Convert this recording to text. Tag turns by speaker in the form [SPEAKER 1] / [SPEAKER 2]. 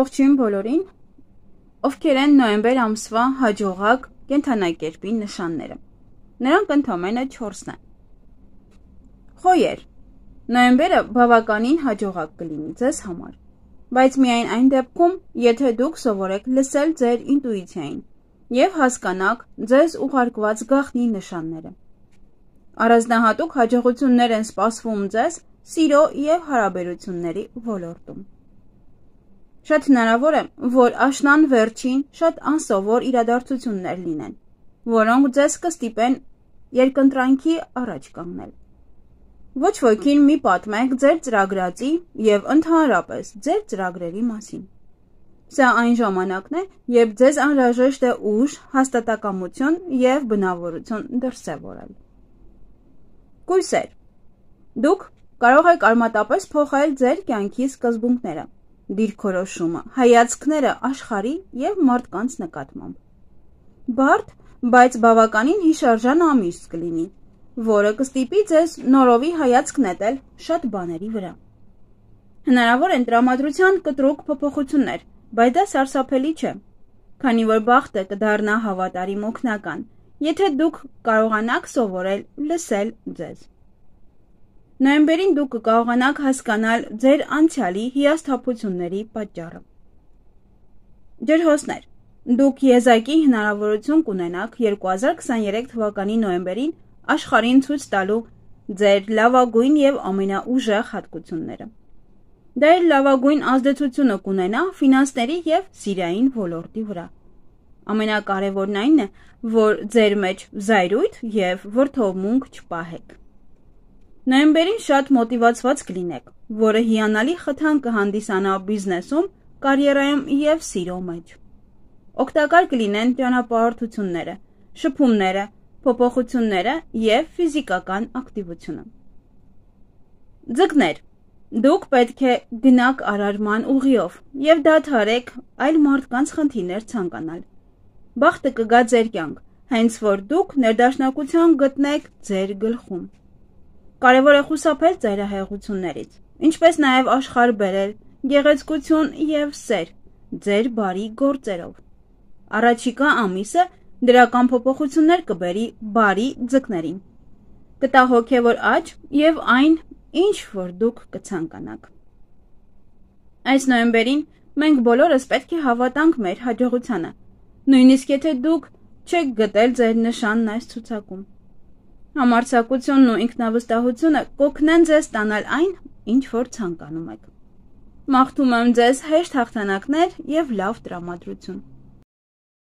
[SPEAKER 1] Ողջույն բոլորին, ովքեր են նոյեմբեր ամսվա հաջողակ կենդանակերպի նշանները։ Նրանք ընդամենը 4-ն են։ Խոյեր, նոյեմբերը բավականին հաջողակ կլինի ձեզ համար, բայց միայն այն դեպքում, եթե դուք սովորեք լսել ձեր ինտուիցիային և հասկանաք ձեզ ուղարկված գաղտնի նշանները։ Առանձնահատուկ հաջողություններ են սպասվում ձեզ սիրո և հարաբերությունների ոլորտում։ Շատ հնարավոր է, որ աշնան վերջին շատ անսովոր իրադարձություններ լինեն, որոնք ձեզ կստիպեն երկընտրանքի առաջ կանգնել։ Ոչ ոքին մի պատմեք ձեր ծրագրածի և ընդհանրապես ձեր ծրագրերի մասին։ Սա այն ժամանակն է, երբ ձեզ անհրաժեշտ է ուժ, հաստատակամություն և բնավորություն դրսևորել։ Կույսեր, դուք կարող եք արմատապես փոխել ձեր կյանքի սկզբունքները, դիրքորոշումը, հայացքները աշխարհի և մարդկանց նկատմամբ։ Բարդ, բայց բավականին հիշարժան ամիս կլինի, որը կստիպի ձեզ նորովի հայացք նետել շատ բաների վրա։ Հնարավոր են տրամադրության կտրուկ փոփոխություններ, բայց դա սարսափելի չէ, քանի որ բախտը կդառնա հավատարիմ օգնական, եթե դուք կարողանաք սովորել լսել ձեզ։ Նոյեմբերին դուք կկարողանաք հասկանալ ձեր անցյալի հիասթափությունների պատճառը։ Ջրհոսներ, դուք եզակի հնարավորություն կունենաք 2023 թվականի նոյեմբերին աշխարհին ցույց տալու ձեր լավագույն և ամենաուժեղ հատկությունները։ Դա իր լավագույն ազդեցությունը կունենա ֆինանսների և սիրային ոլորտի վրա։ Ամենակարևորն այն է, որ ձեր մեջ զայրույթ և վրդովմունք չպահեք։ Նոյեմբերին շատ մոտիվացված կլինեք, որը հիանալի խթան կհանդիսանա բիզնեսում, կարիերայում և սիրո մեջ։ Օգտակար կլինեն ճանապարհորդությունները, շփումները, փոփոխությունները և ֆիզիկական ակտիվությունը։ Ձկներ, դուք պետք է գնաք արարման ուղիով և դադարեք այլ մարդկանց խնդիրներ ցանկանալ։ Բախտը կգա ձեր կյանք, հենց որ դուք ներդաշնակություն գտնեք ձեր գլխում։ Կարևոր է խուսափել ծայրահեղություններից, ինչպես նաև աշխարհ բերել գեղեցկություն և սեր ձեր բարի գործերով։ Առաջիկա ամիսը դրական փոփոխություններ կբերի բարի ձկներին, կտա հոգևոր աճ և այն, ինչ որ դուք կցանկանաք։ Այս նոյեմբերին մենք բոլորս պետք է հավատանք մեր հաջողությանը, նույնիսկ եթե դուք չեք գտել ձեր նշանն այս ցուցակում։ Համարձակությունն ու ինքնավստահությունը կօգնեն ձեզ ստանալ այն, ինչ որ ցանկանում եք։ Մաղթում եմ ձեզ հեշտ հաղթանակներ և լավ տրամադրություն։